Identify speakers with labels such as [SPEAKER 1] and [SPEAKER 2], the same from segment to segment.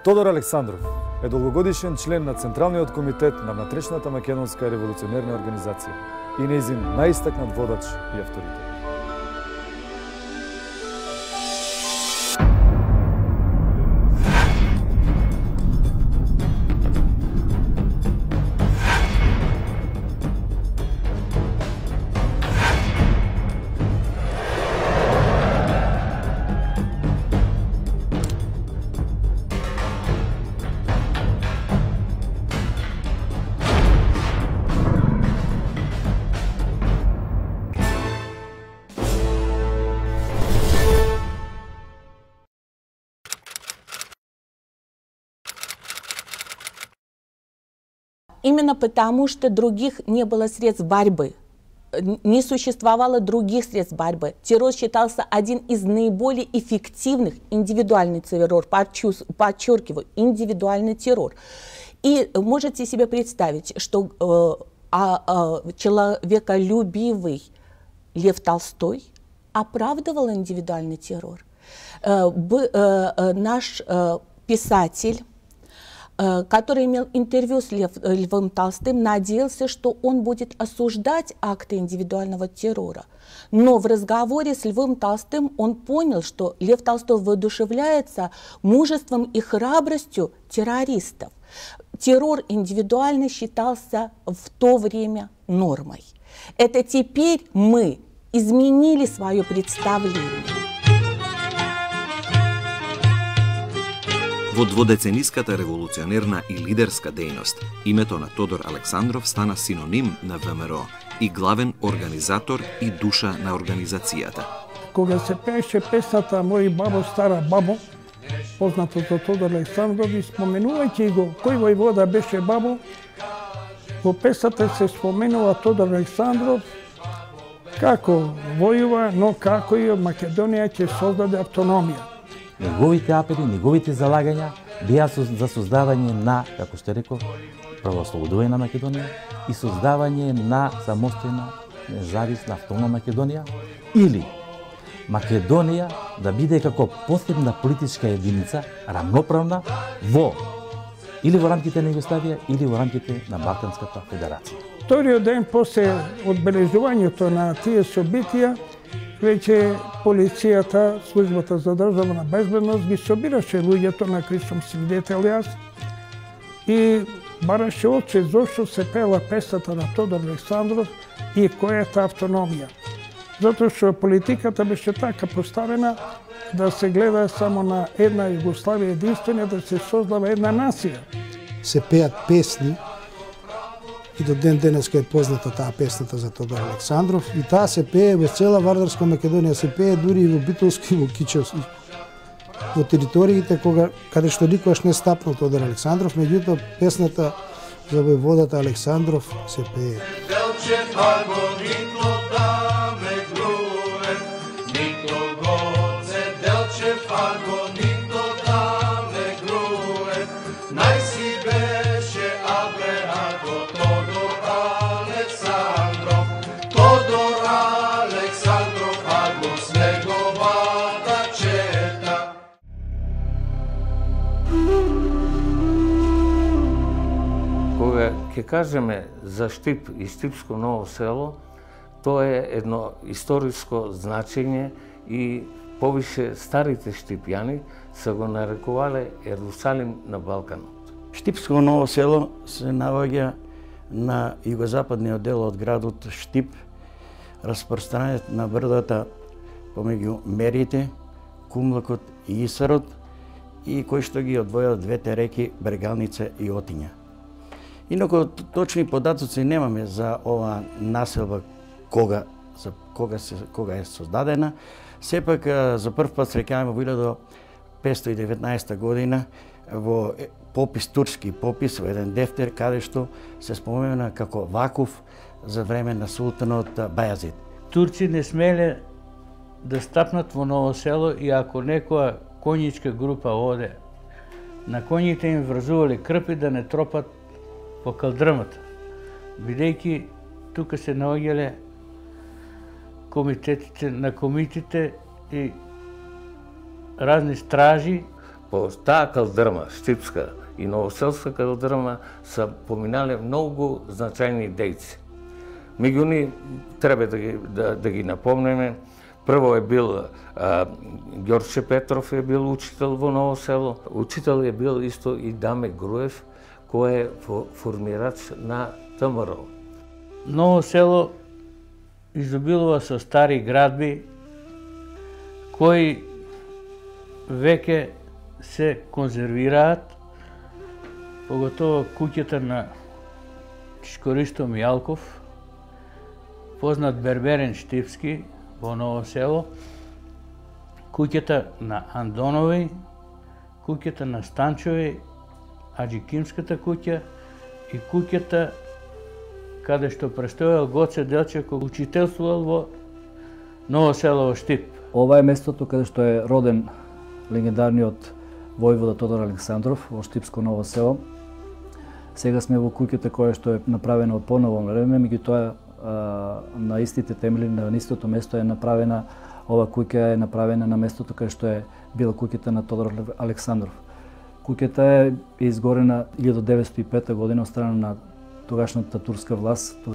[SPEAKER 1] Тодор Александров е долгогодишен член на Централниот комитет на внатрешната македонска револуционерна организација и нејзин најистакнат водач и авторитет.
[SPEAKER 2] Именно потому, что других не было средств борьбы, не существовало других средств борьбы. Террор считался один из наиболее эффективных, индивидуальный террор, подчеркиваю, индивидуальный террор. И можете себе представить, что человеколюбивый Лев Толстой оправдывал индивидуальный террор. Наш писатель, который имел интервью с Львом Толстым, надеялся, что он будет осуждать акты индивидуального террора. Но в разговоре с Львом Толстым он понял, что Лев Толстой воодушевляется мужеством и храбростью террористов. Террор индивидуальный считался в то время нормой. Это теперь мы изменили свое представление.
[SPEAKER 3] Во дводецениската револуционерна и лидерска дејност, името на Тодор Александров стана синоним на ВМРО и главен организатор и душа на организацијата.
[SPEAKER 4] Кога се пееше песната "Мој бабо, стара бабо", познато за Тодор Александров, и споменувајќи го кој војвода беше бабо, во песната се споменува Тодор Александров како војува, но како и Македонија ќе создаде автономија.
[SPEAKER 5] Неговите апели, неговите залагања беа за создавање на, како што реков, правоослободување на Македонија и создавање на самостојна, независна, автономна Македонија, или Македонија да биде како посебна политичка единица, рамноправна или во рамките на Југославија, или во рамките на Балканската федерација.
[SPEAKER 4] Вториот ден после одбележувањето на тие собитија, веќе полицијата, службата за државна безбедност ги собираше луѓето на кои сум свидетел јас и бараше очи зошто се пела песната на Тодор Александров и којата автономија. Затоа што политиката беше така поставена да се гледа само на една Југославија единствена, да се создава една нација.
[SPEAKER 6] Се пеат песни и до ден денеска е позната таа песната за Тодор Александров, и таа се пее во цела Вардарска Македонија, се пее дури и во Битолско и во Кичевско, во териториите каде што никогаш не стапнал Тодор Александров, меѓутоа песната за војводата Александров се пее.
[SPEAKER 7] Ке кажеме за Штип и Штипско Ново село, тоа е едно историско значење и повише старите штипјани се го нарекувале Ерусалим на Балканот.
[SPEAKER 8] Штипско Ново село се наоѓа на југозападниот дел од градот Штип, распространет на брдата помеѓу Мерите, Кумлакот и Исарот, и кој што ги одвојат двете реки Брегалница и Отиња. Инаку точни податоци немаме за ова населба кога е создадена. Сепак за прв пат среќаваме во 1519 година во попис, турски попис, во еден дефтер каде што се спомена како Вакуф за време на султанот Бајазид.
[SPEAKER 9] Турци не смеле да стапнат во Ново село и ако некоја конјичка група оде, на коњите им врзувале крпи да не тропат по калдрмата, бидејќи тука се наоѓале комитетите на комитите и разни стражи.
[SPEAKER 7] по таа калдрма, штипска и новоселска калдрма, са поминале многу значајни дејци. Меѓу нив треба да ги напомнеме. Прво е бил Ѓорче Петров е бил учител во Ново село. Учител е бил исто и Даме Груев, кој е формирач на ВМРО.
[SPEAKER 9] Ново село изобилува со стари градби кои веќе се конзервираат, поготово куќата на Чишкористо Мијалков, познат берберен штипски во Ново село, куќата на Андонови, куќата на Станчови, Аџикимската куќа и куќата каде што престојал Гоце Делчев кој учителствувал во Ново село во Штип.
[SPEAKER 10] Ова е местото каде што е роден легендарниот војвода Тодор Александров во Штипско Ново село. Сега сме во куќата која што е направена од поново време, меѓутоа на истите темели, на истото место е направена, ова куќа е направена на местото каде што е била куќата на Тодор Александров. Куќата е изгорена 1905 година од страна на тогашната турска власт.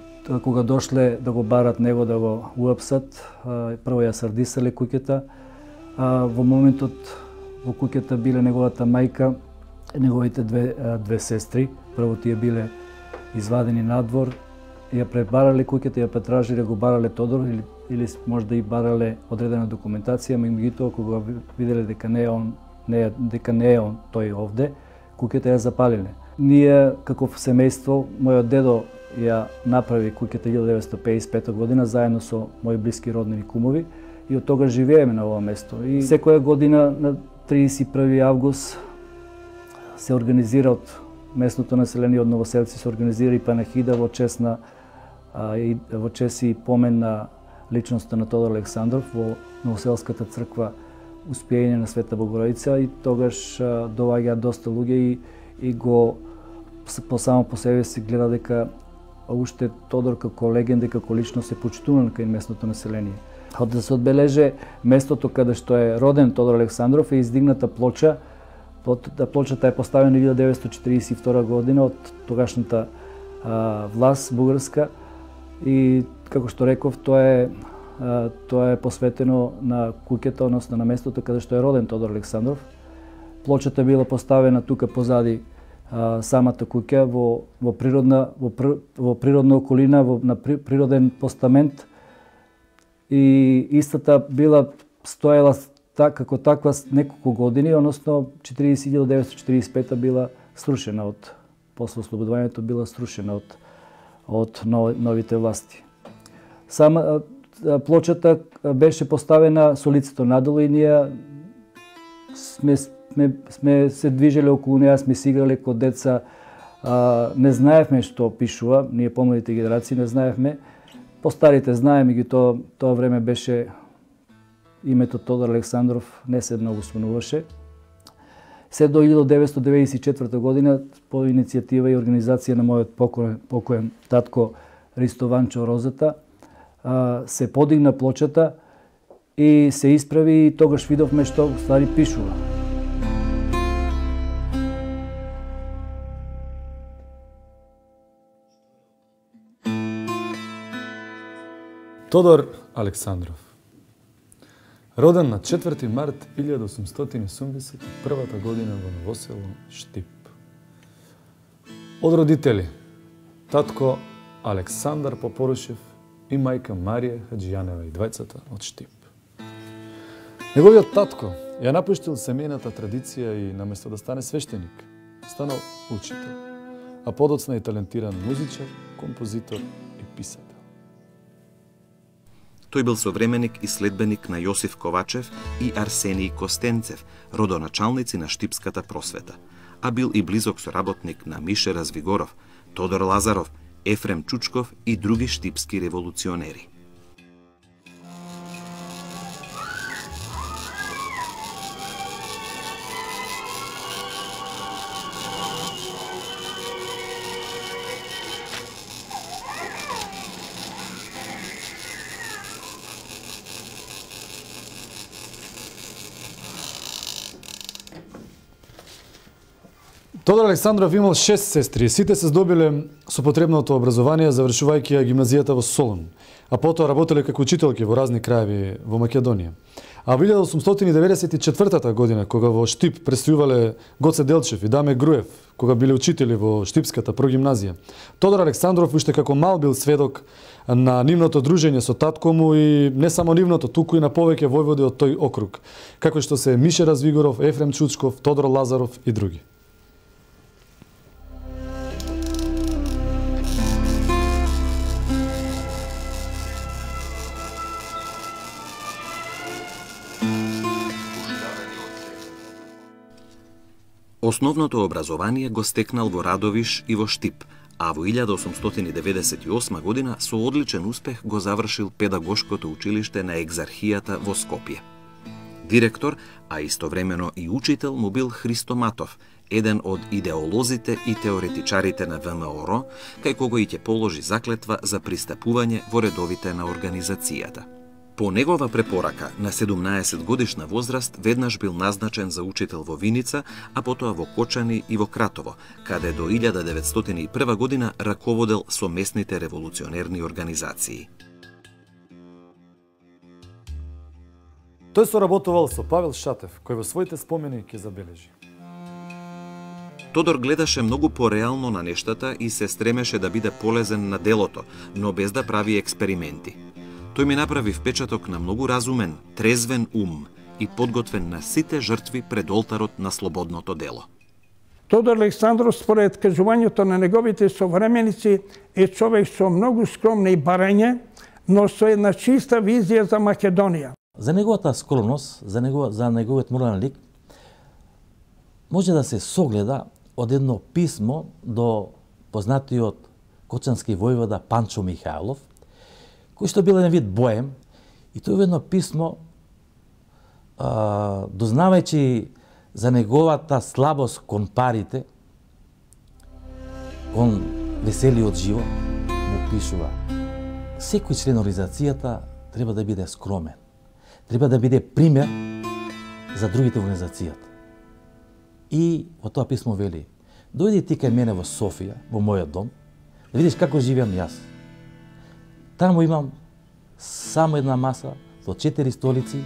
[SPEAKER 10] Кога дошле да го барат него, да го уапсат, прво ја сардисале куќата. Во моментот во куќата биле неговата мајка, неговите две сестри. Прво тие биле извадени надвор, ја пребарале куќата, ја претражиле, го барале Тодор или можда и барале одредена документација, меѓутоа кога виделе дека не е он тој овде, куќата ја запалиле. Ние како семејство, мојот дедо ја направи куќата 1955 година заедно со мои блиски роднини кумови и од тога живееме на ова место. И секоја година на 31 август се организира од местното население, од новоселци се организира и панахида во чест и помен на личноста на Тодор Александров во Новоселската црква Успејање на Света Богородица, и тогаш доаѓаат доста луѓе и го само по себе се гледа дека уште Тодор како легенда, како личност се почитуван кај местното население. Од да се одбележе местото каде што е роден Тодор Александров е издигната плоча. Плочата е поставена 1942 година од тогашната власт бугарска и како што реков, тоа е посветено на куќата, односно на местото каде што е роден Тодор Александров. Плочата била поставена тука позади самата куќа во природна околина, на природен постамент, и истата била стоела како таква неколку години, односно 1945 била срушена после ослободувањето била срушена од новите власти. Сама плочата беше поставена со лицето надолу и ние сме се движеле околу неја, сме си играле кога деца, не знаевме што пишува, ние помладите генерации не знаевме, постарите знаеме ги, тоа време беше името Тодор Александров не се многу спомнуваше. Се до 1994 година по иницијатива и организација на мојот покоен татко Ристо Ванчо Розата се подигна плочата и се исправи, и тогаш видовме што ствари пишува.
[SPEAKER 1] Тодор Александров. Роден на 4 март 1871 година во Новосело Штип. Од родители татко Александар Попорушев и мајка Марија Хаджијанева, и двајцата од Штип. Неговиот татко ја напуштил семејната традиција и наместо да стане свештеник, станал учител, а подоцна и талентиран музичар, композитор и писател.
[SPEAKER 3] Тој бил современик и следбеник на Јосиф Ковачев и Арсенија Костенцев, родоначалници на штипската просвета, а бил и близок соработник на Мише Развигоров, Тодор Лазаров, Ефрем Чучков и други штипски револуционери.
[SPEAKER 1] Тодор Александров имал 6 сестри, сите се здобиле со потребното образование завршувајќи ја гимназијата во Солун, а потоа работеле како учителки во разни краеви во Македонија. А во 1894 година, кога во Штип престојувале Гоце Делчев и Даме Груев, кога биле учители во Штипската прогимназија, Тодор Александров уште како мал бил сведок на нивното дружење со татко му и не само нивното, туку и на повеќе војводи од тој округ, како што се Мише Развигоров, Ефрем Чучков, Тодор Лазаров и други.
[SPEAKER 3] Основното образование го стекнал во Радовиш и во Штип, а во 1898 година со одличен успех го завршил педагошкото училиште на Екзархијата во Скопје. Директор, а истовремено и учител му бил Христо Матов, еден од идеолозите и теоретичарите на ВМРО, кај кого и ќе положи заклетва за пристапување во редовите на организацијата. По негова препорака, на 17 годишна возраст веднаш бил назначен за учител во Виница, а потоа во Кочани и во Кратово, каде до 1901 година раководел со местните револуционерни организации.
[SPEAKER 1] Тој соработувал со Павел Шатев, кој во своите спомени ќе забележи.
[SPEAKER 3] Тодор гледаше многу пореално на нештата и се стремеше да биде полезен на делото, но без да прави експерименти. Тој ми направи впечаток на многу разумен, трезвен ум и подготвен на сите жртви пред олтарот на слободното дело.
[SPEAKER 4] Тодор Александров, според кажувањето на неговите современици, е човек со многу скромни барање, но со една чиста визија за Македонија.
[SPEAKER 5] За неговата скромност, за неговиот морален лик, може да се согледа од едно писмо до познатиот кочански војвода Панчо Михајлов, кој што бил еден вид боем, и тој едно писмо, дознавајќи за неговата слабост кон парите, кон веселиот живот, му пишува: секој член на организацијата треба да биде скромен, треба да биде пример за другите во организацијата. И во тоа писмо вели: дојди ти кај мене во Софија, во мојот дом, да видиш како живеам јас. Таму имам само една маса со 4 столици,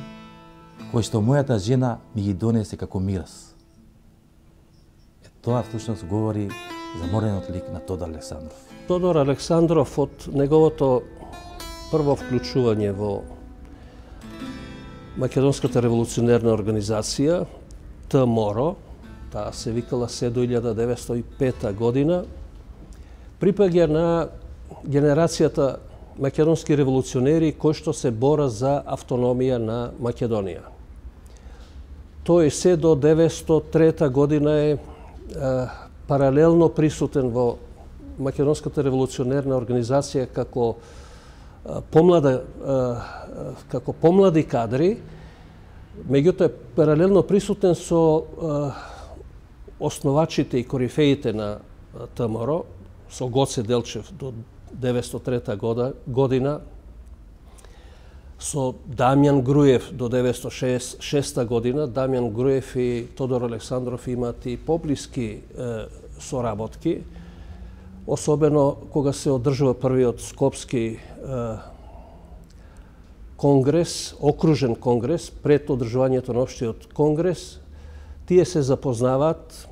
[SPEAKER 5] кои што мојата жена ми ги донесе како мирас. Тоа всушност говори за моралниот лик на Тодор Александров.
[SPEAKER 11] Тодор Александров од неговото прво вклучување во Македонската револуционерна организација, ТМОРО, таа се викала се до 1905 година, припаѓа на генерацијата македонски револуционери кои што се бора за автономија на Македонија. Тој се до 1903 година е паралелно присутен во Македонската револуционерна организација како помлади кадри, меѓутоа е паралелно присутен со основачите и корифеите на ТМРО, со Гоце Делчев до 1903 година, со Дамјан Груев до 1906 година. Дамјан Груев и Тодор Александров имаат и поблиски соработки, особено кога се одржува првиот Скопски конгрес, окружен конгрес, пред одржувањето на општиот конгрес. Тие се запознаваат.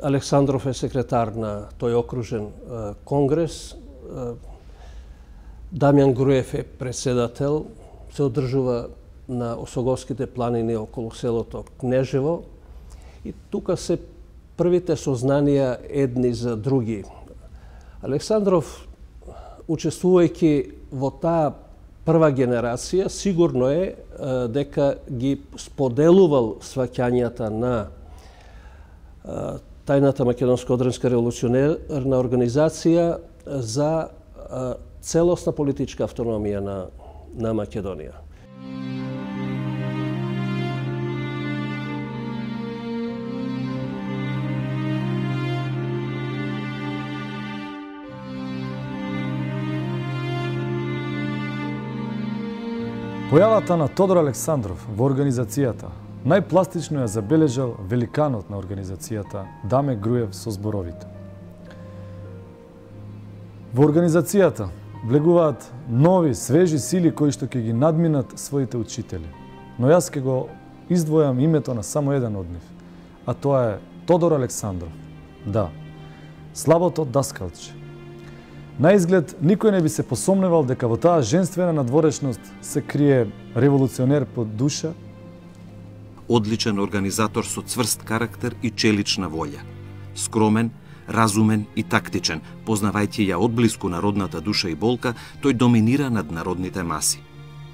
[SPEAKER 11] Александров е секретар на тој окружен конгрес. Дамјан Груев е председател. Се одржува на Осоговските планини околу селото Кнежево. И тука се првите сознанија едни за други. Александров, учествувајќи во таа прва генерација, сигурно е дека ги споделувал сваќањата на тајната Македонска одбранска револуционерна организација за целосна политичка автономија на Македонија.
[SPEAKER 1] Појавата на Тодор Александров во организацијата најпластично ја забележал великанот на организацијата Даме Груев со зборовите. Во организацијата влегуваат нови, свежи сили кои што ќе ги надминат своите учители. Но јас ќе го издвојам името на само еден од нив, а тоа е Тодор Александров. Да, слабото даскалче. На изглед, никој не би се посомневал дека во таа женствена надворешност се крие револуционер по душа.
[SPEAKER 3] Одличен организатор со цврст карактер и челична волја. Скромен, разумен и тактичен, познавајќи ја одблиску народната душа и болка, тој доминира над народните маси.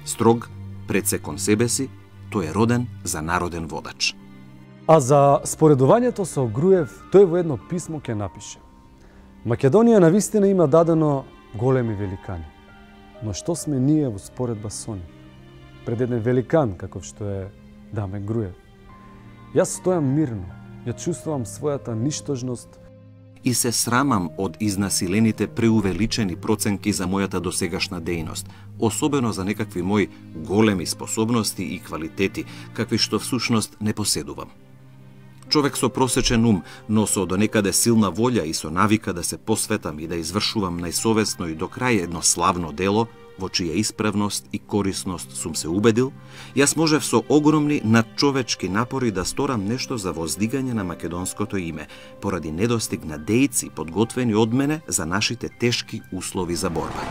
[SPEAKER 3] Строг, пред се кон себе си, тој е роден за народен водач.
[SPEAKER 1] А за споредувањето со Груев, тој во едно писмо ќе напише: Македонија навистина има дадено големи великани, но што сме ние во споредба со нив? Пред еден великан, каков што е Даме Груев. Јас стојам мирно, ја чувствувам својата ништожност
[SPEAKER 3] и се срамам од изнасилените преувеличени проценки за мојата досегашна дејност, особено за некакви мои големи способности и квалитети, какви што всушност не поседувам. Човек со просечен ум, но со донекаде силна волја и со навика да се посветам и да извршувам најсовесно и до крај едно славно дело, во чија исправност и корисност сум се убедил, јас можев со огромни надчовечки напори да сторам нешто за воздигање на македонското име, поради недостиг на дејци подготвени од мене за нашите тешки услови за борба.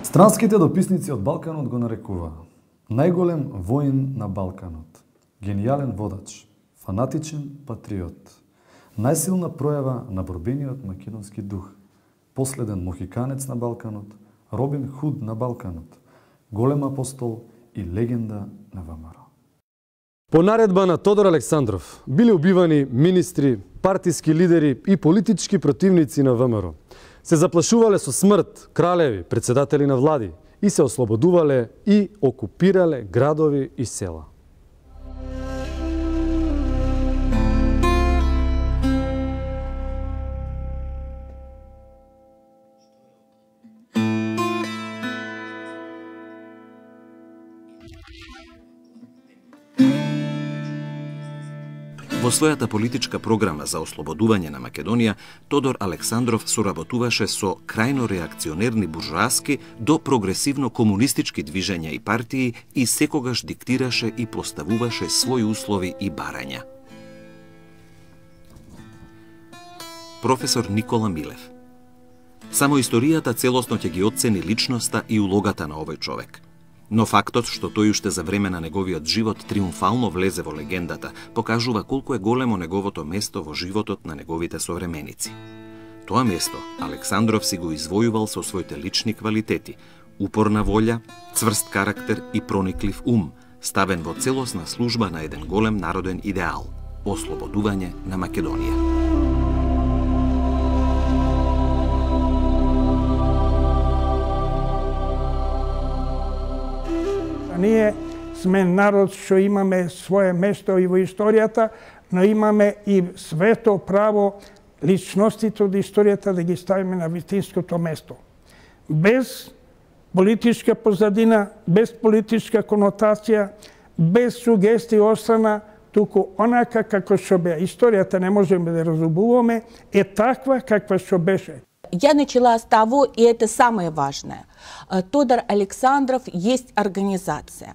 [SPEAKER 1] Странските дописници од Балканот го нарекуваа најголем воин на Балканот, генијален водач, фанатичен патриот, најсилна пројава на борбениот македонски дух, последен мохиканец на Балканот, Робин Худ на Балканот, голем апостол и легенда на ВМРО. По наредба на Тодор Александров биле убивани министри, партиски лидери и политички противници на ВМРО. Се заплашувале со смрт кралеви, председатели на влади и се ослободувале и окупирале градови и села.
[SPEAKER 3] Во својата политичка програма за ослободување на Македонија, Тодор Александров соработуваше со крајно реакционерни буржоаски до прогресивно комунистички движења и партии и секогаш диктираше и поставуваше своји услови и барања. Професор Никола Милев. Само историјата целосно ќе ги оцени личноста и улогата на овој човек. Но фактот што тој уште за време на неговиот живот триумфално влезе во легендата, покажува колку е големо неговото место во животот на неговите современици. Тоа место Александров си го извојувал со своите лични квалитети, упорна волја, цврст карактер и прониклив ум, ставен во целосна служба на еден голем народен идеал – ослободување на Македонија.
[SPEAKER 4] Ние сме народ што имаме свое место и во историјата, но имаме и свето право личностите од историјата да ги ставиме на вистинското место. Без политичка позадина, без политичка конотација, без сугестии острана, туку онака како што беа. Историјата не можеме да разубуваме, е таква каква што беше.
[SPEAKER 2] Я начала с того, и это самое важное. Тодор Александров есть организация.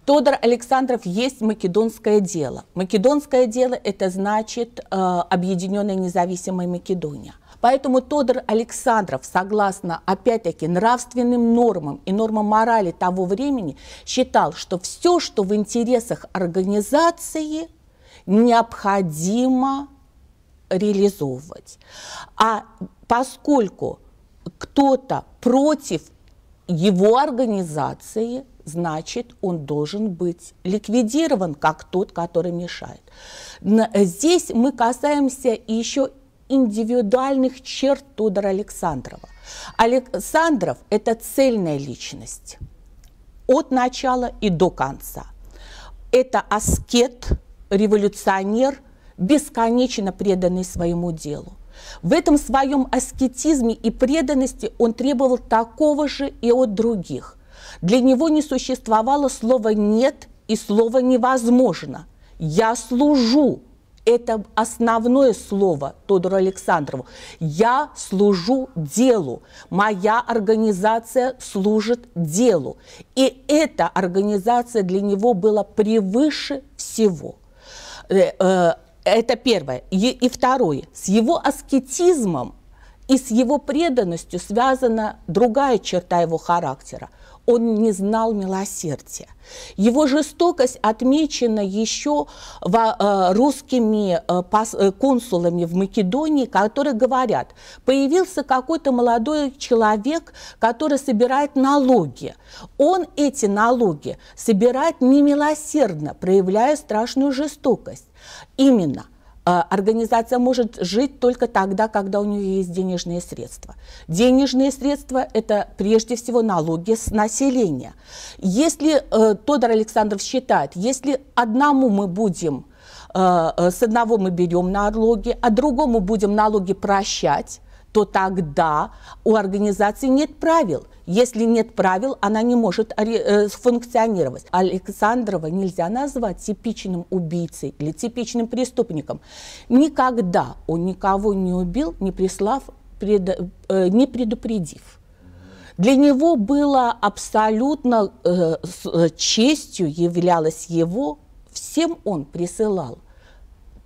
[SPEAKER 2] Тодор Александров есть македонское дело. Македонское дело – это значит Объединенная независимая Македония. Поэтому Тодор Александров, согласно, опять-таки, нравственным нормам и нормам морали того времени, считал, что все, что в интересах организации, необходимо реализовывать. А поскольку кто-то против его организации, значит, он должен быть ликвидирован, как тот, который мешает. Здесь мы касаемся еще индивидуальных черт Тодора Александрова. Александров – это цельная личность от начала и до конца. Это аскет, революционер, бесконечно преданный своему делу. В этом своем аскетизме и преданности он требовал такого же и от других. Для него не существовало слова «нет» и слова «невозможно». «Я служу». Это основное слово Тодору Александрову. Я служу делу. Моя организация служит делу. И эта организация для него была превыше всего. Это первое. И второе. С его аскетизмом и с его преданностью связана другая черта его характера. Он не знал милосердия. Его жестокость отмечена еще русскими консулами в Македонии, которые говорят, появился какой-то молодой человек, который собирает налоги. Он эти налоги собирает немилосердно, проявляя страшную жестокость. Именно. Организация может жить только тогда, когда у нее есть денежные средства. Денежные средства – это прежде всего налоги с населения. Если Тодор Александров считает, если одному мы будем, с одного мы берем налоги, а другому будем налоги прощать, то тогда у организации нет правил. Если нет правил, она не может функционировать. Александрова нельзя назвать типичным убийцей или типичным преступником. Никогда он никого не убил, не предупредив. Для него было абсолютно честью являлось его, всем он присылал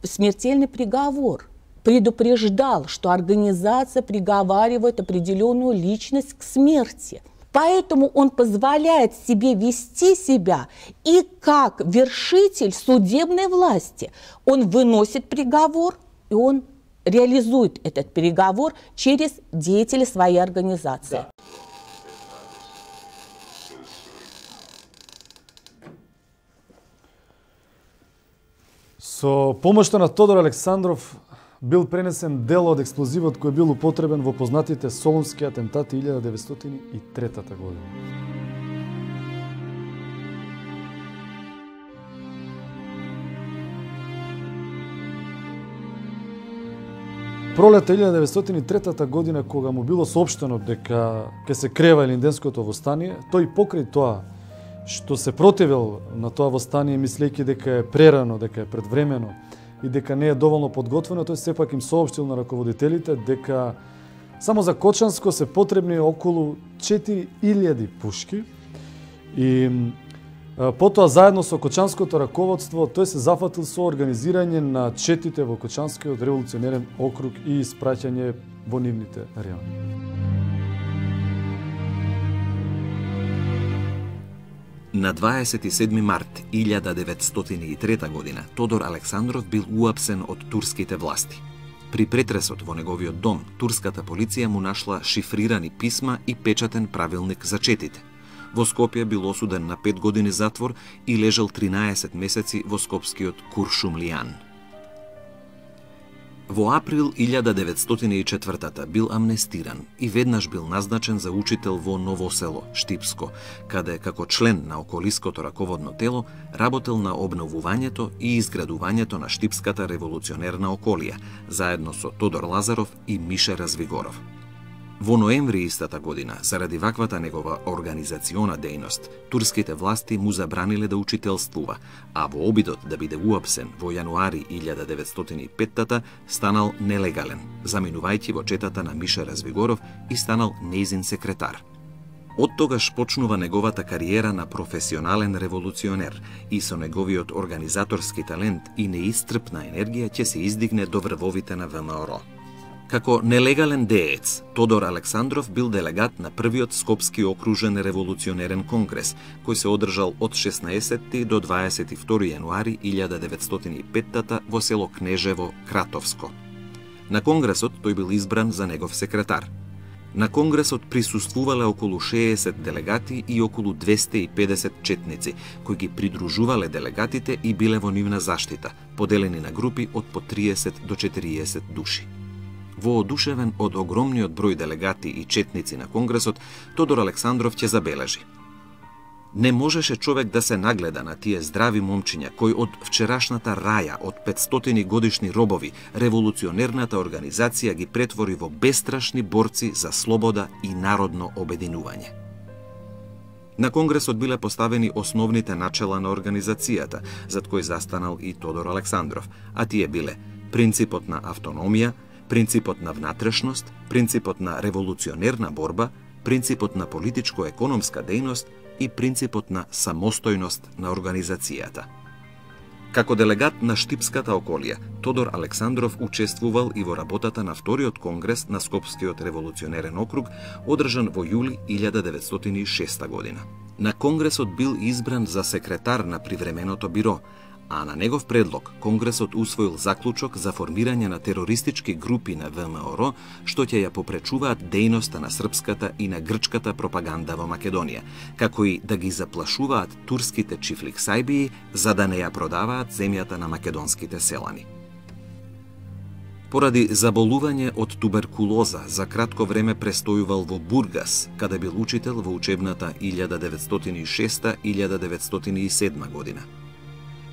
[SPEAKER 2] смертельный приговор. Предупреждал, что организация приговаривает определенную личность к смерти. Поэтому он позволяет себе вести себя и как вершитель судебной власти. Он выносит приговор, и он реализует этот приговор через деятелей своей организации.
[SPEAKER 1] Со помошта на Тодор Александров бил пренесен дел од експлозивот кој бил употребен во познатите солунски атентати 1903 година. Пролета 1903 година, кога му било соопштено дека ќе се крева Илинденското востание, тој покрај тоа што се противил на тоа востание, мислејќи дека е прерано, дека е предвремено, и дека не е доволно подготвено, тој сепак им соопштил на раководителите дека само за Кочанско се потребни околу 4000 пушки и потоа заедно со Кочанското раководство тој се зафатил со организирање на четите во Кочанскиот револуционерен округ и испраќање во нивните райони.
[SPEAKER 3] На 27 март 1903 година Тодор Александров бил уапсен од турските власти. При претресот во неговиот дом, турската полиција му нашла шифрирани писма и печатен правилник за четите. Во Скопје бил осуден на 5 години затвор и лежал 13 месеци во скопскиот Куршумлијан. Во април 1904 бил амнестиран и веднаш бил назначен за учител во Ново село, Штипско, каде како член на околиското раководно тело работел на обновувањето и изградувањето на Штипската револуционерна околија, заедно со Тодор Лазаров и Мише Развигоров. Во ноември истата година, заради ваквата негова организациона дејност, турските власти му забраниле да учителствува, а во обидот да биде уапсен во јануари 1905 станал нелегален, заминувајќи во четата на Миша Развигоров и станал нејзин секретар. Од тогаш почнува неговата кариера на професионален револуционер и со неговиот организаторски талент и неисцрпна енергија ќе се издигне до врвовите на ВМРО. Како нелегален деец, Тодор Александров бил делегат на првиот Скопски окружен револуционерен конгрес, кој се одржал од 16 до 22 јануари 1905 во село Кнежево, Кратовско. На конгресот тој бил избран за негов секретар. На конгресот присуствувале околу 60 делегати и околу 250 четници, кои ги придружувале делегатите и биле во нивна заштита, поделени на групи од по 30 до 40 души. Воодушевен од огромниот број делегати и четници на конгресот, Тодор Александров ќе забележи: Не можеше човек да се нагледа на тие здрави момчиња кои од вчерашната раја од 500 годишни робови револуционерната организација ги претвори во бестрашни борци за слобода и народно обединување. На Конгресот биле поставени основните начела на организацијата, зад кои застанал и Тодор Александров, а тие биле принципот на автономија, принципот на внатрешност, принципот на револуционерна борба, принципот на политичко-економска дејност и принципот на самостојност на организацијата. Како делегат на Штипската околија, Тодор Александров учествувал и во работата на вториот конгрес на Скопскиот револуционерен округ, одржан во јули 1906 година. На конгресот бил избран за секретар на привременото биро, а на негов предлог Конгресот усвоил заклучок за формирање на терористички групи на ВМРО, што ќе ја попречуваат дејноста на српската и на грчката пропаганда во Македонија, како и да ги заплашуваат турските чифликсајбии за да не ја продаваат земјата на македонските селани. Поради заболување од туберкулоза, за кратко време престојувал во Бургас, каде бил учител во учебната 1906-1907 година.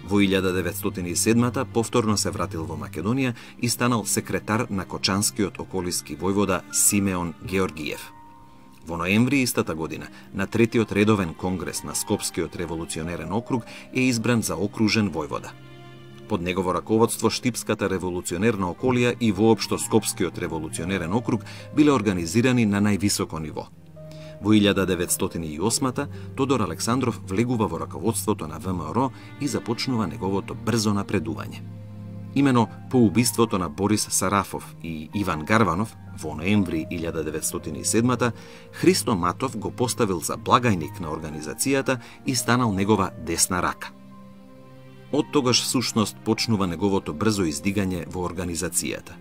[SPEAKER 3] Во 1907 повторно се вратил во Македонија и станал секретар на Кочанскиот околиски војвода Симеон Георгиев. Во ноември истата година, на третиот редовен конгрес на Скопскиот револуционерен округ е избран за окружен војвода. Под негово раководство Штипската револуционерна околија и воопшто Скопскиот револуционерен округ биле организирани на највисоко ниво. Во 1908 Тодор Александров влегува во раководството на ВМРО и започнува неговото брзо напредување. Имено по убиството на Борис Сарафов и Иван Гарванов во ноември 1907 Христо Матов го поставил за благајник на организацијата и станал негова десна рака. Од тогаш всушност почнува неговото брзо издигање во организацијата.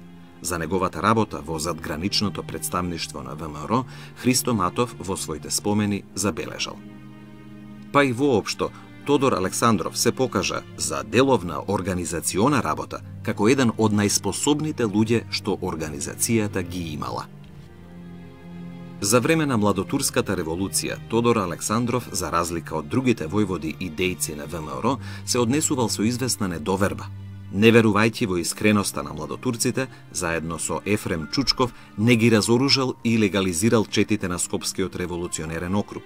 [SPEAKER 3] За неговата работа во задграничното представништво на ВМРО, Христо Матов во своите спомени забележал: па и воопшто, Тодор Александров се покажа за деловна организациона работа како еден од најспособните луѓе што организацијата ги имала. За време на младотурската револуција, Тодор Александров, за разлика од другите војводи и дејци на ВМРО, се однесувал со известна недоверба. Не верувајќи во искреноста на младотурците, заедно со Ефрем Чучков не ги разоружал и легализирал четите на Скопскиот револуционерен округ.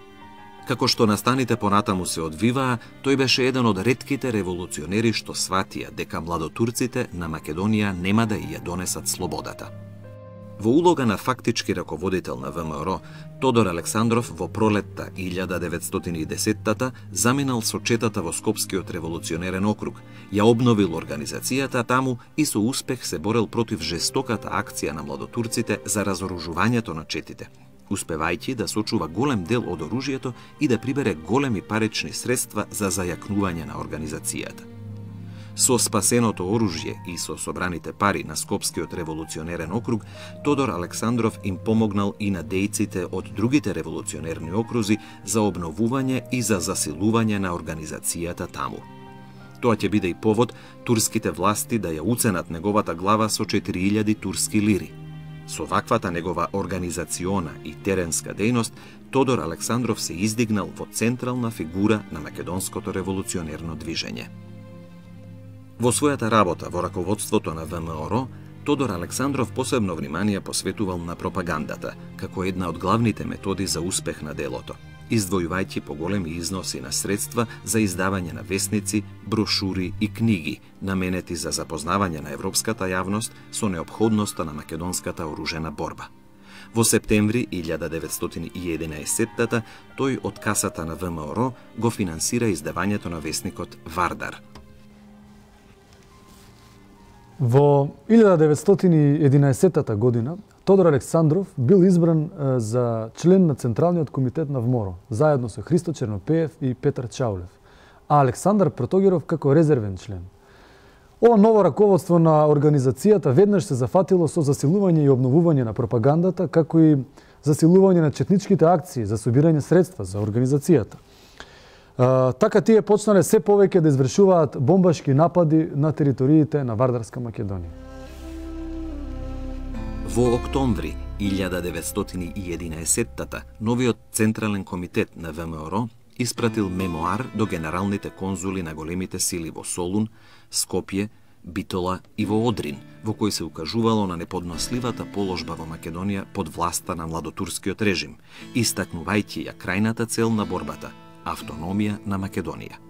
[SPEAKER 3] Како што настаните понатаму се одвиваа, тој беше еден од ретките револуционери што сватија дека младотурците на Македонија нема да ја донесат слободата. Во улога на фактички раководител на ВМРО, Тодор Александров во пролетта 1910-та заминал со четата во Скопскиот револуционерен округ, ја обновил организацијата таму и со успех се борел против жестоката акција на младотурците за разоружувањето на четите, успевајќи да сочува голем дел од оружјето и да прибере големи парични средства за зајакнување на организацијата. Со спасеното оружје и со собраните пари на Скопскиот револуционерен округ, Тодор Александров им помогнал и на дејците од другите револуционерни окрузи за обновување и за засилување на организацијата таму. Тоа ќе биде и повод турските власти да ја уценат неговата глава со 4000 турски лири. Со ваквата негова организациона и теренска дејност, Тодор Александров се издигнал во централна фигура на македонското револуционерно движење. Во својата работа во раководството на ВМРО, Тодор Александров посебно внимание посветувал на пропагандата, како една од главните методи за успех на делото, издвојувајќи поголеми износи на средства за издавање на весници, брошури и книги, наменети за запознавање на европската јавност со неопходноста на македонската оружена борба. Во септември 1911 тој од касата на ВМРО го финансира издавањето на весникот Вардар.
[SPEAKER 1] Во 1911 година Тодор Александров бил избран за член на Централниот комитет на ВМРО, заедно со Христо Чернопеев и Петар Чаулев, а Александар Протогеров како резервен член. Ова ново раководство на организацијата веднаш се зафатило со засилување и обновување на пропагандата, како и засилување на четничките акции за собирање средства за организацијата. Така тие почнале се повеќе да извршуваат бомбашки напади на териториите на Вардарска Македонија.
[SPEAKER 3] Во октомври 1911 новиот Централен комитет на ВМРО испратил мемоар до генералните конзули на големите сили во Солун, Скопје, Битола и во Одрин, во кој се укажувало на неподносливата положба во Македонија под власта на младотурскиот режим, истакнувајќи ја крајната цел на борбата – автономија на Македонија.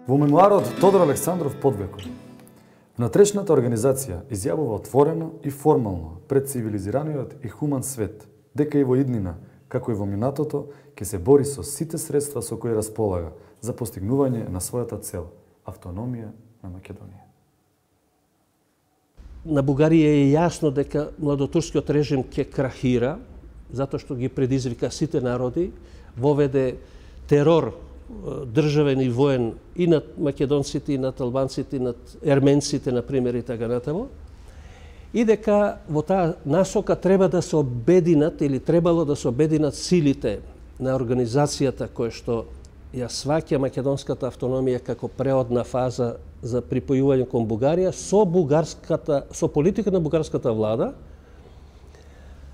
[SPEAKER 1] Во мемуарот Тодор Александров подвекот, внатрешната организација изјавува отворено и формално пред цивилизираниот и хуман свет дека и во иднина, како и во минатото, ќе се бори со сите средства со кои располага за постигнување на својата цел – автономија на Македонија.
[SPEAKER 11] На Бугарија е јасно дека младотурскиот режим ќе крахира, затоа што ги предизвика сите народи, воведе терор државен и воен и над македонците, и над албанците, и над ерменците, например, и така натаму. И дека во таа насока треба да се обединат или требало да се обединат силите на организацијата која што ја сваќа македонската автономија како преодна фаза за припојување кон Бугарија со политика на бугарската влада,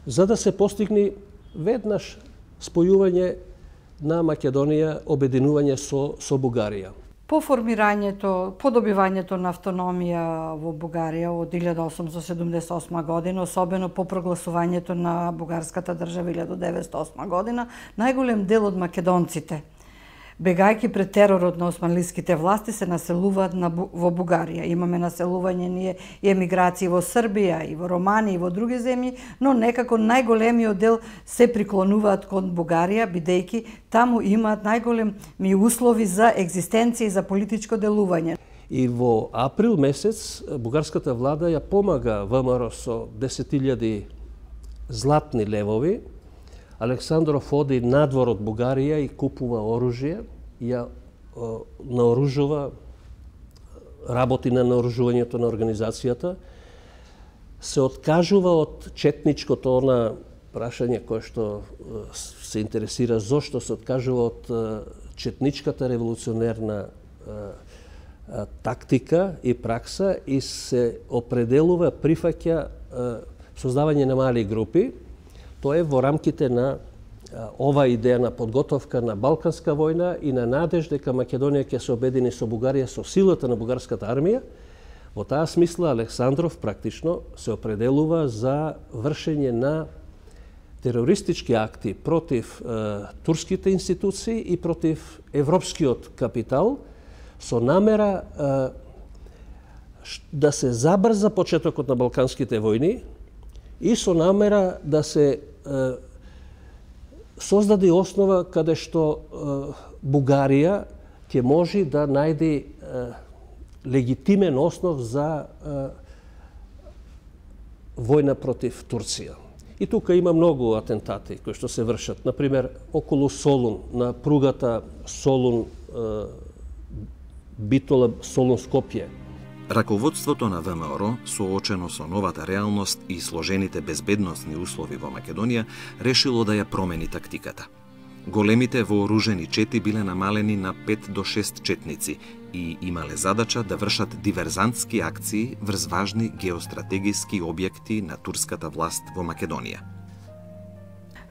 [SPEAKER 11] за да се постигне веднаш спојување на Македонија, обединување со Бугарија.
[SPEAKER 12] По формирањето, по добивањето на автономија во Бугарија од 1878 година, особено по прогласувањето на бугарската држава 1908 година, најголем дел од македонците, бегајќи пред теророт на османлиските власти, се населуваат во Бугарија. Имаме населување ние и емиграции во Србија, и во Романија, и во други земји, но некако најголемиот дел се приклонуваат кон Бугарија, бидејќи таму имаат најголеми услови за екзистенција и за политичко делување.
[SPEAKER 11] И во април месец бугарската влада ја помага ВМРО со 10.000 златни левови. Александров оди надвор од Бугарија и купува оружје, ја наоружува, работи на наоружувањето на организацијата, се откажува од четничкото прашање кое што се интересира зошто се откажува од четничката револуционерна тактика и пракса и се определува, прифаќа создавање на мали групи. Тоа е во рамките на ова идеја на подготовка на Балканска војна и на надеж дека Македонија ќе се обедини со Бугарија со силата на бугарската армија. Во таа смисла Александров практично се определува за вршење на терористички акти против турските институции и против европскиот капитал со намера да се забрза почетокот на Балканските војни и со намера да се создаде основа каде што Бугарија ќе може да најде легитимен основ за војна против Турција. И тука има многу атентати кои што се вршат. Например, околу Солун, на пругата Солун-Битола, Солун-Скопје.
[SPEAKER 3] Раководството на ВМРО, соочено со новата реалност и сложените безбедносни услови во Македонија, решило да ја промени тактиката. Големите вооружени чети биле намалени на 5 до 6 четници и имале задача да вршат диверзантски акции врз важни геостратегиски објекти на турската власт во Македонија.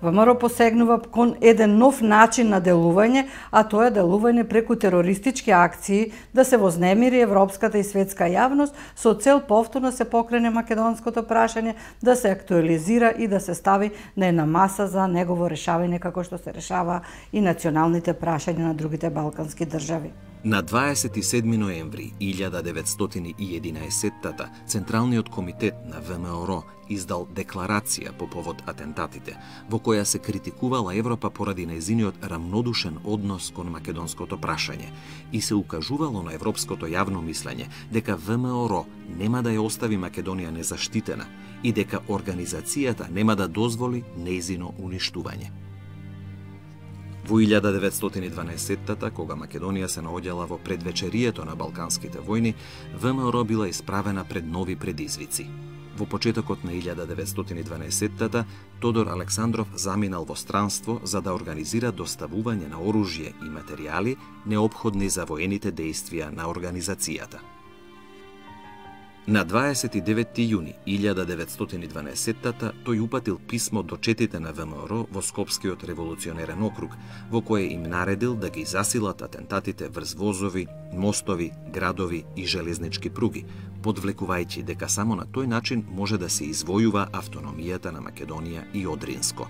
[SPEAKER 12] ВМРО посегнува кон еден нов начин на делување, а тоа е делување преку терористички акции, да се вознемири европската и светска јавност со цел повторно се покрене македонското прашање, да се актуализира и да се стави на една маса за негово решавање како што се решава и националните прашања на другите балкански држави.
[SPEAKER 3] На 27 ноември 1911 Централниот комитет на ВМРО издал декларација по повод атентатите, во која се критикувала Европа поради нејзиниот рамнодушен однос кон македонското прашање и се укажувало на европското јавно мислење дека ВМРО нема да ја остави Македонија незаштитена и дека организацијата нема да дозволи нејзино уништување. Во 1912 кога Македонија се наоѓала во предвечерието на Балканските војни, ВМРО била исправена пред нови предизвици. Во почетокот на 1912 Тодор Александров заминал во странство за да организира доставување на оружје и материјали неопходни за воените дејствија на организацијата. На 29. јуни 1912 тој упатил писмо до четите на ВМРО во Скопскиот револуционерен округ, во кое им наредил да ги засилат атентатите врз возови, мостови, градови и железнички пруги, подвлекувајќи дека само на тој начин може да се извојува автономијата на Македонија и Одринско.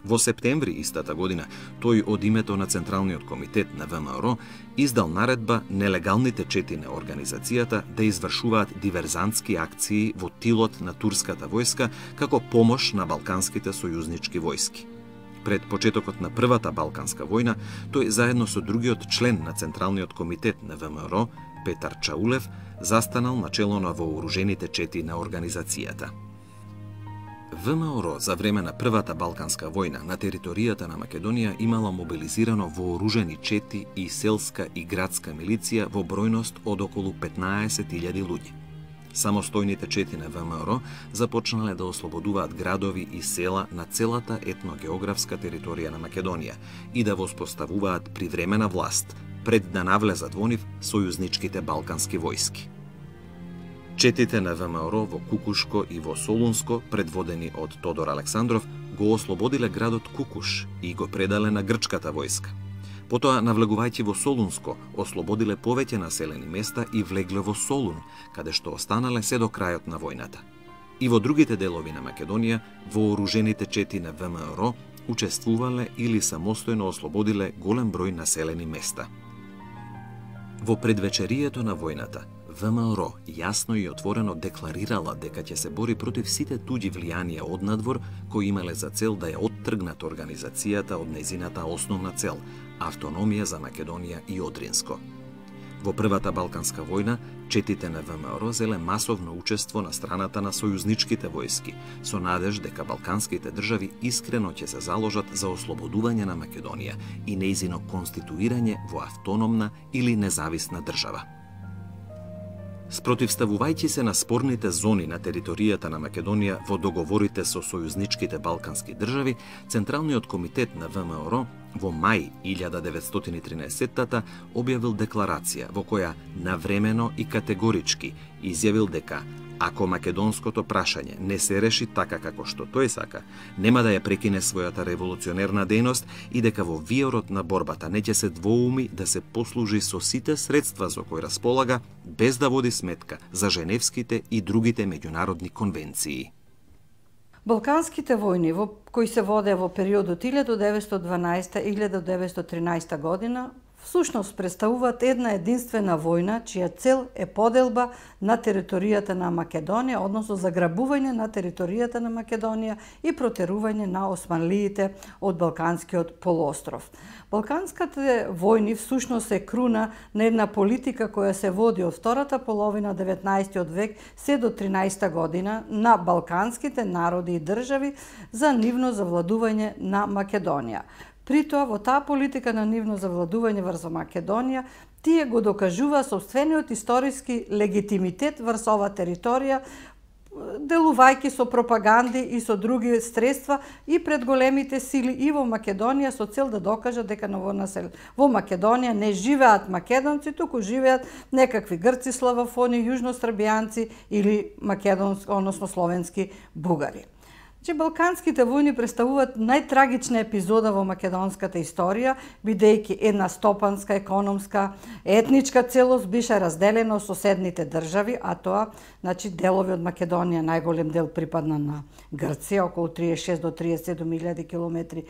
[SPEAKER 3] Во септември истата година, тој од името на Централниот комитет на ВМРО издал наредба нелегалните чети на организацијата да извршуваат диверзантски акции во тилот на турската војска како помош на балканските сојузнички војски. Пред почетокот на Првата Балканска војна, тој заедно со другиот член на Централниот комитет на ВМРО, Петар Чаулев, застанал начело на вооружените чети на организацијата. ВМРО за време на Првата Балканска војна на територијата на Македонија имала мобилизирано вооружени чети и селска и градска милиција во бројност од околу 15.000 луѓе. Самостојните чети на ВМРО започнале да ослободуваат градови и села на целата етногеографска територија на Македонија и да воспоставуваат привремена власт пред да навлезат во нив сојузничките балкански војски. Четите на ВМРО во Кукушко и во Солунско, предводени од Тодор Александров, го ослободиле градот Кукуш и го предале на грчката војска. Потоа, навлегувајќи во Солунско, ослободиле повеќе населени места и влегле во Солун, каде што останале се до крајот на војната. И во другите делови на Македонија, вооружените чети на ВМРО учествувале или самостојно ослободиле голем број населени места. Во предвечерието на војната, ВМРО јасно и отворено декларирала дека ќе се бори против сите туѓи влијанија однадвор кои имале за цел да ја оттргнат организацијата од нејзината основна цел – автономија за Македонија и Одринско. Во Првата Балканска војна, четите на ВМРО зеле масовно учество на страната на сојузничките војски, со надеж дека балканските држави искрено ќе се заложат за ослободување на Македонија и нејзино конституирање во автономна или независна држава. Спротивставувајќи се на спорните зони на територијата на Македонија во договорите со сојузничките балкански држави, Централниот комитет на ВМРО во мај 1913 објавил декларација во која навремено и категорички изјавил дека ако македонското прашање не се реши така како што тој сака, нема да ја прекине својата револуционерна дејност и дека во виорот на борбата не ќе се двоуми да се послужи со сите средства со кои располага, без да води сметка за женевските и другите меѓународни конвенции.
[SPEAKER 12] Балканските војни кои се воде во периодот 1912-1913 година всушност представуваат една единствена војна чија цел е поделба на територијата на Македонија, односно заграбување на територијата на Македонија и протерување на османлиите од Балканскиот полуостров. Балканските војни всушност е круна на една политика која се води од втората половина 19 век се до 13 година на балканските народи и држави за нивно завладување на Македонија. При тоа, во таа политика на нивно завладување врз Македонија, тие го докажува сопствениот историски легитимитет врз оваа територија, делувајќи со пропаганди и со други средства и пред големите сили и во Македонија со цел да докажат дека во Македонија не живеат македонци, туку живеат некакви грци, славофони, јужнострабијанци или односно словенски бугари. Балканските војни представуваат најтрагична епизода во македонската историја, бидејќи една стопанска, економска, етничка целост беше разделена од соседните држави, а тоа, делови од Македонија, најголем дел припадна на Грција, околу 36 до 37.000 километри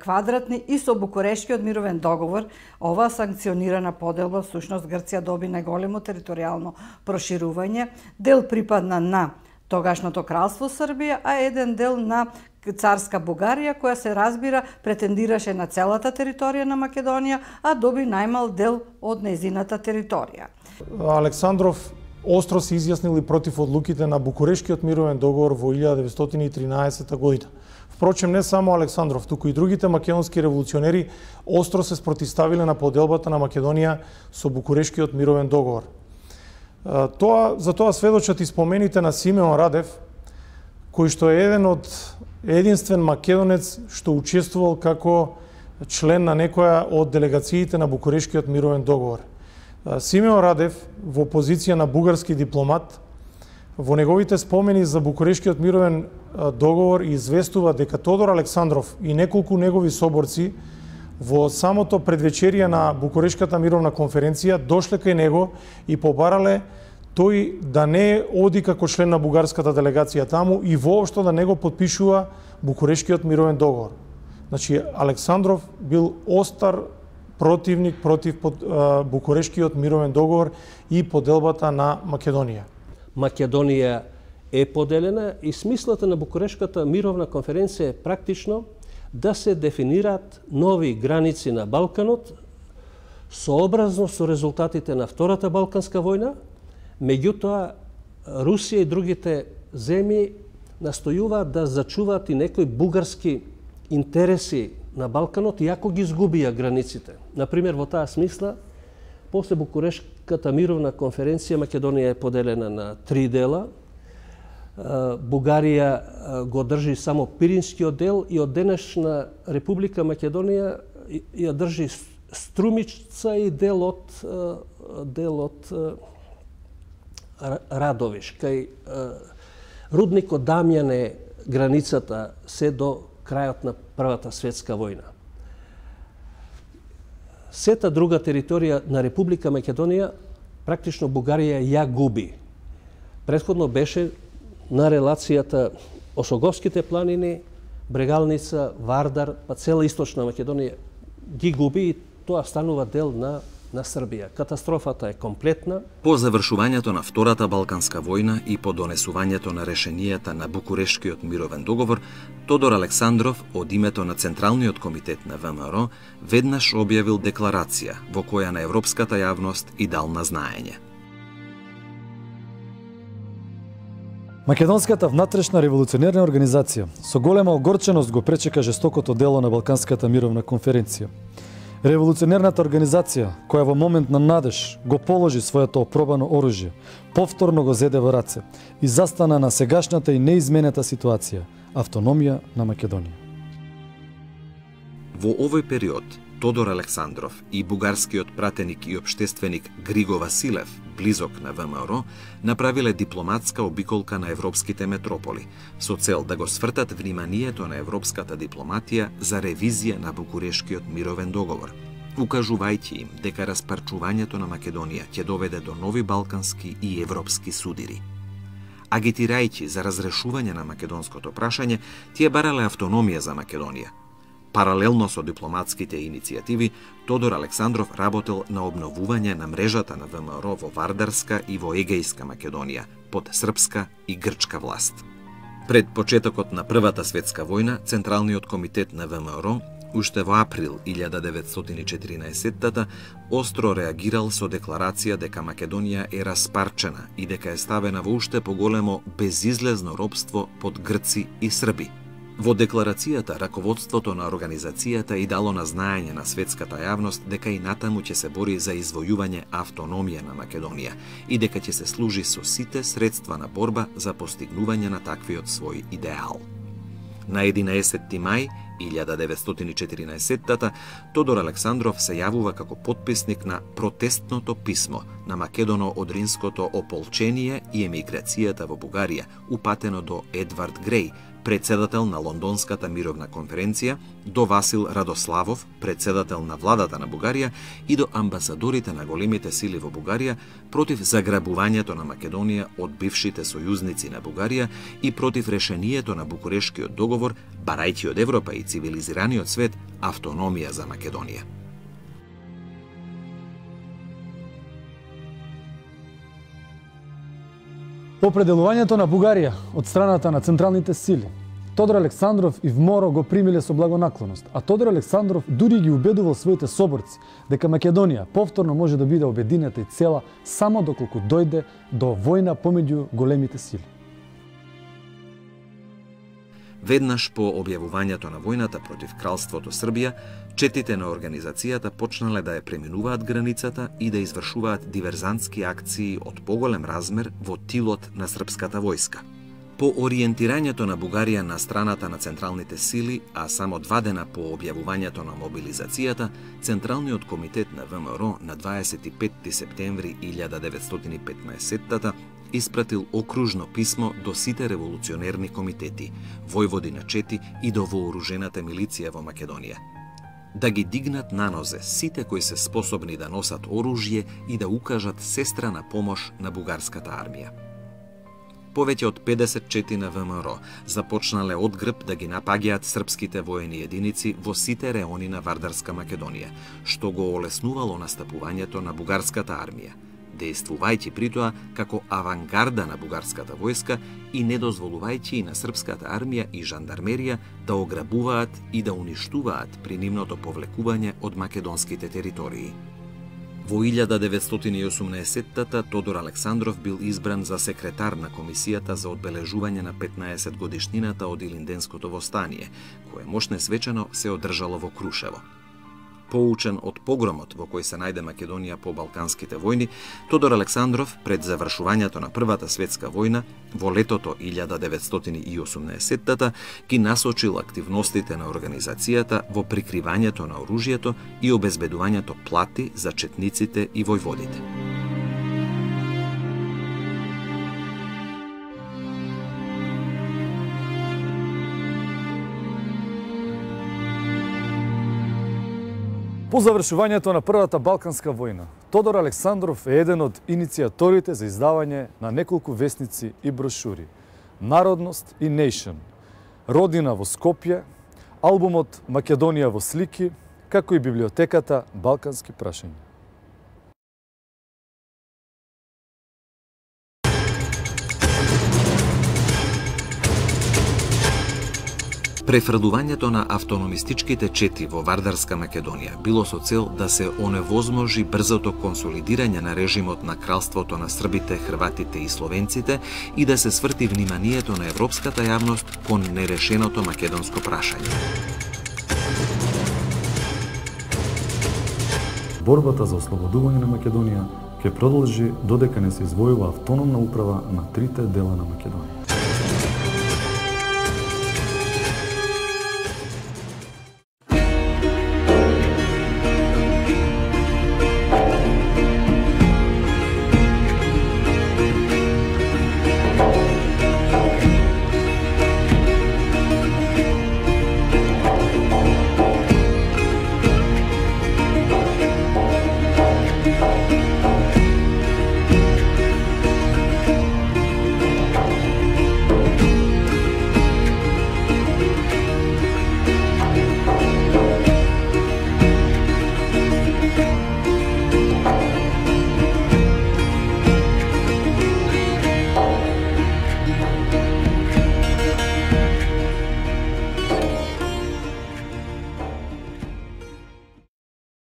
[SPEAKER 12] квадратни, и со Букурешкиот мировен договор, оваа санкционирана поделба, всушност Грција доби најголемо територијално проширување, дел припадна на тогашното кралство Србија, а еден дел на царска Бугарија, која се разбира претендираше на целата територија на Македонија, а доби најмал дел од нејзината територија.
[SPEAKER 13] Александров остро се изјаснил и против одлуките на Букурешкиот мировен договор во 1913 година. Впрочем, не само Александров, туку и другите македонски револуционери остро се спротивставиле на поделбата на Македонија со Букурешкиот мировен договор. За тоа сведочат и спомените на Симеон Радев, кој што е единствен македонец што учествувал како член на некоја од делегациите на Букурешкиот мировен договор. Симеон Радев, во позиција на бугарски дипломат, Во неговите спомени за Букурешкиот мировен договор известува дека Тодор Александров и неколку негови соборци во самото предвечерие на Букурешката мировна конференција дошле кај него и побарале тој да не оди како член на бугарската делегација таму и воопшто да не го потпишува Букурешкиот мировен договор. Значи, Александров бил остар противник против Букурешкиот мировен договор и поделбата на Македонија.
[SPEAKER 11] Македонија е поделена и смислата на Букурешката мировна конференција е практично да се дефинираат нови граници на Балканот сообразно со резултатите на Втората Балканска војна. Меѓутоа, Русија и другите земји настојуваат да зачуваат и некои бугарски интереси на Балканот, иако ги изгубија границите. Например, во таа смисла, после Букурешката мировна конференција Македонија е поделена на 3 дела. Бугарија го држи само Пиринскиот дел и од денешна Република Македонија ја држи Струмица и дел од Радовиш. Кај рудникот Дамјан е границата се до крајот на Првата светска војна. Сета друга територија на Република Македонија практично Бугарија ја губи. Претходно беше на релацијата Осоговските планини, Брегалница, Вардар, па цела источна Македонија ги губи и тоа станува дел на Србија. Катастрофата е комплетна.
[SPEAKER 3] По завршувањето на Втората Балканска војна и по донесувањето на решенијата на Букурешкиот мировен договор, Тодор Александров од името на Централниот комитет на ВМРО веднаш објавил декларација во која на европската јавност и дал на знаење.
[SPEAKER 1] Македонската внатрешна револуционерна организација со голема огорченост го пречека жестокото дело на Балканската мировна конференција. Револуционерната организација, која во момент на надеж го положи своето опробано оружје, повторно го зеде во раце и застана на сегашната и неизменета ситуација – автономија на Македонија.
[SPEAKER 3] Во овој период, Тодор Александров и бугарскиот пратеник и обштественик Григо Василев, близок на ВМРО, направиле дипломатска обиколка на европските метрополи, со цел да го свртат вниманието на европската дипломатија за ревизија на Букурешкиот мировен договор, укажувајќи им дека распарчувањето на Македонија ќе доведе до нови балкански и европски судири. Агитирајќи за разрешување на македонското прашање, тие барале автономија за Македонија. Паралелно со дипломатските иницијативи, Тодор Александров работел на обновување на мрежата на ВМРО во Вардарска и во Егејска Македонија, под српска и грчка власт. Пред почетокот на Првата светска војна, Централниот комитет на ВМРО, уште во април 1914 остро реагирал со декларација дека Македонија е распарчена и дека е ставена во уште поголемо безизлезно робство под грци и срби. Во декларацијата, раководството на организацијата и дало на знаење на светската јавност дека и натаму ќе се бори за извојување автономија на Македонија и дека ќе се служи со сите средства на борба за постигнување на таквиот свој идеал. На 11 мај 1914 Тодор Александров се јавува како потписник на протестното писмо на Македоно-Одринското ополчение и емиграцијата во Бугарија, упатено до Едвард Греј, председател на Лондонската мировна конференција, до Васил Радославов, председател на владата на Бугарија и до амбасадорите на големите сили во Бугарија против заграбувањето на Македонија од бившите сојузници на Бугарија и против решението на Букурешкиот договор, барајќи од Европа и цивилизираниот свет автономија за Македонија.
[SPEAKER 1] По определувањето на Бугарија од страната на централните сили, Тодор Александров и ВМРО го примиле со благонаклоност, а Тодор Александров дури ги убедувал своите соборци дека Македонија повторно може да биде обединета и цела само доколку дојде до војна помеѓу големите сили.
[SPEAKER 3] Веднаш по објавувањето на војната против кралството Србија, четите на организацијата почнале да ја преминуваат границата и да извршуваат диверзантски акции од поголем размер во тилот на српската војска. По ориентирањето на Бугарија на страната на централните сили, а само 2 дена по објавувањето на мобилизацијата, Централниот комитет на ВМРО на 25 септември 1915 испратил окружно писмо до сите револуционерни комитети, војводи на чети и до вооружената милиција во Македонија. Да ги дигнат на нозе сите кои се способни да носат оружје и да укажат сестрана помош на бугарската армија. Повеќе од 50 чети на ВМРО започнале одгреб да ги напаѓаат српските воени единици во сите реони на Вардарска Македонија, што го олеснувало настапувањето на бугарската армија, дејствувајќи притоа како авангарда на бугарската војска и не дозволувајќи и на српската армија и жандармерија да ограбуваат и да уништуваат при нивното повлекување од македонските територии. Во 1918-та Тодор Александров бил избран за секретар на Комисијата за одбележување на 15 годишнината од Илинденското востание, кое мошне свечено се одржало во Крушево. Поучен од погромот во кој се најде Македонија по Балканските војни, Тодор Александров пред завршувањето на Првата светска војна во летото 1918-та ги насочил активностите на организацијата во прикривањето на оружјето и обезбедувањето плати за четниците и војводите.
[SPEAKER 1] По завршувањето на Првата Балканска војна, Тодор Александров е еден од иницијаторите за издавање на неколку весници и брошури. Народност и Nation, Родина во Скопје, албумот Македонија во слики, како и библиотеката Балкански прашања.
[SPEAKER 3] Префрлувањето на автономистичките чети во Вардарска Македонија било со цел да се оневозможи брзото консолидирање на режимот на кралството на србите, хрватите и словенците и да се сврти вниманието на европската јавност кон нерешеното македонско прашање.
[SPEAKER 1] Борбата за ослободување на Македонија ќе продолжи додека не се извојува автономна управа на трите дела на Македонија.